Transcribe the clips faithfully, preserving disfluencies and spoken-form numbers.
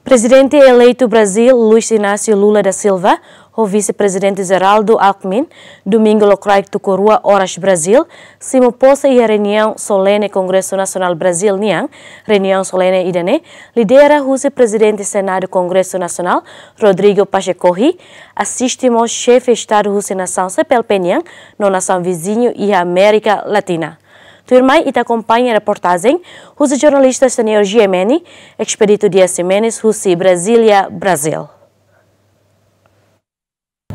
Prezidente eleitu Brazíl, Luiz Inácio Lula da Silva, ho Vise-Prezidente Geraldo Alckmin, domingu lokraik tuku rua oras Brazíl, simu pose iha reuniaun solene Kongresu Nasionál Brazíl nian. Reuniaun solene ida-ne'e lidera husi Prezidente Senadu Kongresu Nasionál, Rodrigo Pacheco, asiste mós xefe Estadu husi nasaun C P L P nian no nasaun viziñu iha Amérika Latina. Tuirmai ita akompaña reportajen husi jornalista seniór G M N, Expedito Dias Ximenes, husi Brasília, Brazíl.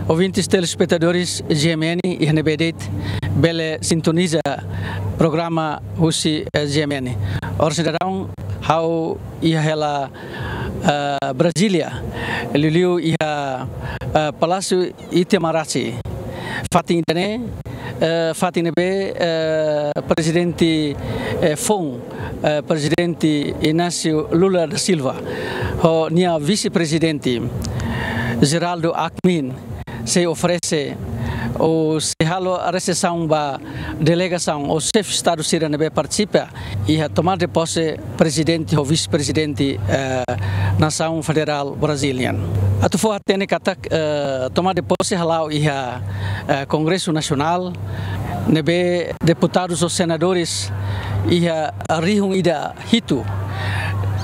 Ouvintes telespetadores G M N iha ne'ebé de'it bele sintoniza programa husi, eh, G M N. Oras ne'e daudaun ha'u iha hela, eh, Brasília, liuliu iha, eh, Palásiu Itamaraty. Fatin ida-ne'e, eh, fatin ne'ebé, eh, Prezidente, eh, foun, eh, Prezidente Inácio Lula da Silva ho nia Vise-Prezidente Geraldo Alckmin sei oferese ou sei halo resepsaun ba delegasaun ou xefe Estadu sira ne'ebé partisipa iha tomada de pose Prezidente ho Vise-Prezidente, eh, Nasaun Federál Brazíl nian. Atu fó hatene katak, eh, tomada de pose hala'o iha, eh, Kongresu Nasionál, ne'ebé deputadus ou senadores iha rihun ida hitu,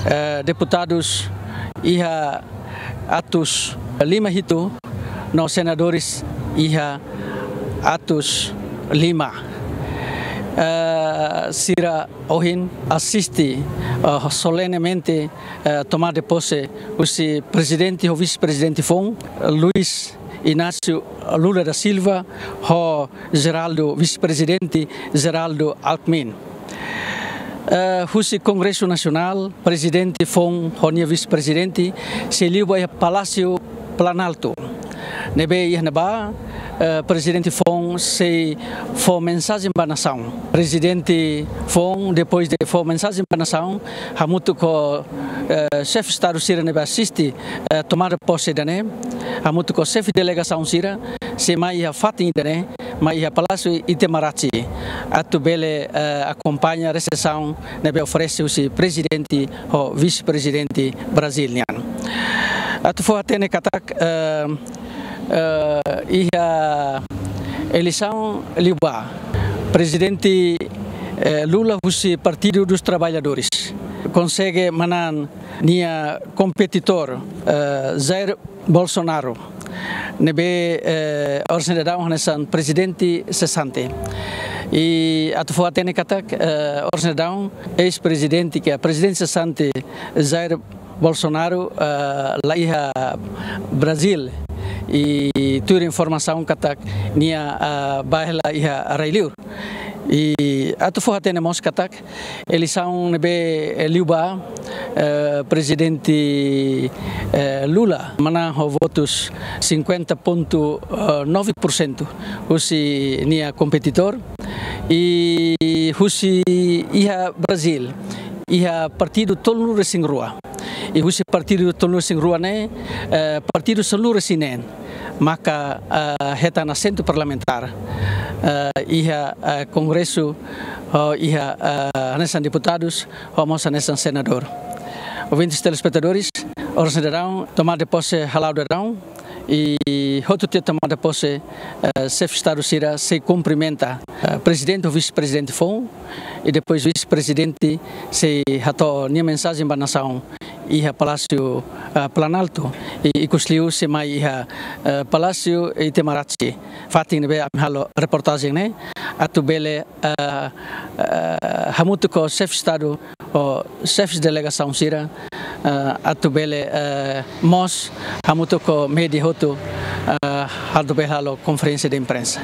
eh, deputadus iha atus lima hitu, no senadores iha atus lima. Eh, sira ohin asiste, eh, solenemente, eh, tomada de pose husi Prezidente ho Vise-Prezidente foun, Luiz Inácio Lula da Silva, ho Geraldo, Vise-Prezidente Geraldo Alckmin. Eh, husi Kongresu Nasionál, Prezidente foun ho nia Vise-Prezidente sei liu ba iha Palásiu Planalto. Ne'ebé iha ne'ebá, eh, Prezidente foun sei fó mensajen ba nasaun. Prezidente foun, depois de fó mensajen ba nasaun, hamutuk ho, eh, xefe Estadu sira ne'ebé asiste, eh, tomada pose ida-ne'e, hamutuk ho xefe delegasaun sira, sei mai iha fatin ida-ne'e, mai iha Palásiu Itamaraty, atu bele, eh, akompaña resepsaun ne'ebé oferese husi Prezidente ho Vise-Prezidente Brazíl nian. Atu fó hatene katak, eh, eh, iha eleisaun liubá, Prezidente, eh, Lula husi Partido dos Trabalhadores konsege manán nia kompetidór, eh, Jair Bolsonaro, ne'ebé, eh, oras ne'e daudaun hanesan prezidente sesante. I atu fó hatene katak, eh, oras ne'e daudaun eis-prezidente, ke prezidente sesante Jair Bolsonaro, eh, la iha Brazíl. I tuir informasaun katak nia, eh, bá hela iha rai-li'ur. I atu fó hatene mós katak eleisaun ne'ebé, eh, liubá, eh, Prezidente, eh, Lula manán ho votus cinquenta ponto nove por cento husi nia kompetidór. I husi iha Brazíl, iha partidu tolunulu-resin-rua. I husi partidu tolunulu-resin-rua ne'e, eh, partidu sanulu-resin-neen maka, eh, hetan asentu parlamentár, eh, iha, eh, Kongresu, ho iha, eh, hanesan deputadus, ho mós hanesan senadór. Ouvintes telespetadores, oras ne'e daudaun, tomada de pose hala'o daudaun, i hotu tiha tomada de pose, eh, xefe Estadu sira sei kumprimenta, eh, Prezidente ho Vise-Prezidente foun, i depois Vise-Prezidente sei hato'o nia mensajen ba nasaun iha Palásiu, eh, Planalto, i ikusliu sei mai iha, eh, Palásiu Itamaraty, fatin ne'ebé ami halo reportajen ne'e, atu bele, eh, eh, hamutuk ho xefe Estadu ho xefe delegasaun sira, eh, atu bele, eh, mós hamutuk ho média hotu, eh, atu bele halo konferénsia de imprensa.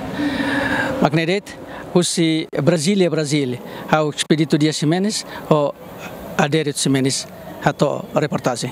Mak ne'e de'it, husi Brasília, Brazíl, ha'u Expedito Dias Ximenes, ho Adérito Ximenes, hato'o reportajen.